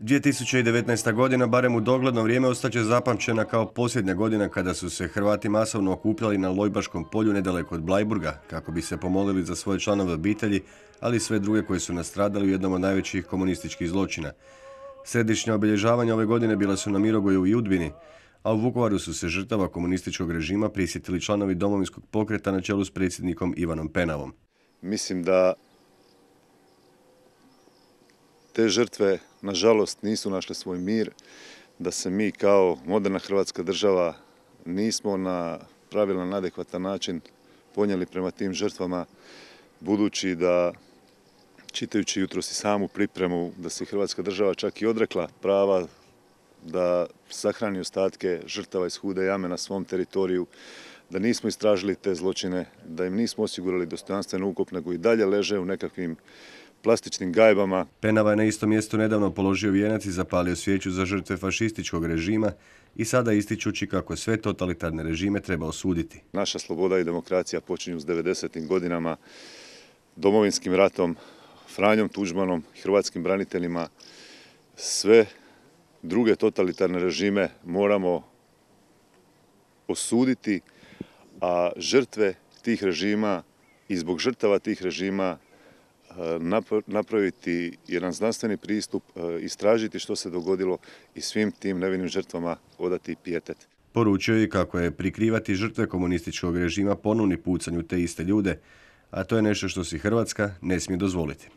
2019. godina, barem u dogledno vrijeme, ostaće zapamćena kao posljednja godina kada su se Hrvati masovno okupljali na Lojbaškom polju nedaleko od Blajburga kako bi se pomolili za svoje članove obitelji, ali i sve druge koji su nastradali u jednom od najvećih komunističkih zločina. Središnja obilježavanja ove godine bila su na Mirogoju i Udbini, a u Vukovaru su se žrtava komunističkog režima prisjetili članovi Domovinskog pokreta na čelu s predsjednikom Ivanom Penavom. Mislim da te žrtve, nažalost, nisu našle svoj mir, da se mi kao moderna Hrvatska država nismo na pravilan, adekvatan način ponijeli prema tim žrtvama, budući da, čitajući jutros i samu pripremu, da se Hrvatska država čak i odrekla prava da sahrani ostatke žrtava iz Hude jame na svom teritoriju, da nismo istražili te zločine, da im nismo osigurali dostojanstven ukop, nego i dalje leže u nekakvim plastičnim gajbama. Penava je na istom mjestu nedavno položio vijenac i zapalio svijeću za žrtve fašističkog režima i sada ističući kako sve totalitarne režime treba osuditi. Naša sloboda i demokracija počinju s 90. godinama, Domovinskim ratom, Franjom Tuđmanom, hrvatskim braniteljima. Sve druge totalitarne režime moramo osuditi, a žrtve tih režima i zbog žrtava tih režima napraviti jedan znanstveni pristup, istražiti što se dogodilo i svim tim nevinim žrtvama odati pijetet. Poručio je kako je prikrivati žrtve komunističkog režima ponovni pucanj u te iste ljude, a to je nešto što si Hrvatska ne smije dozvoliti.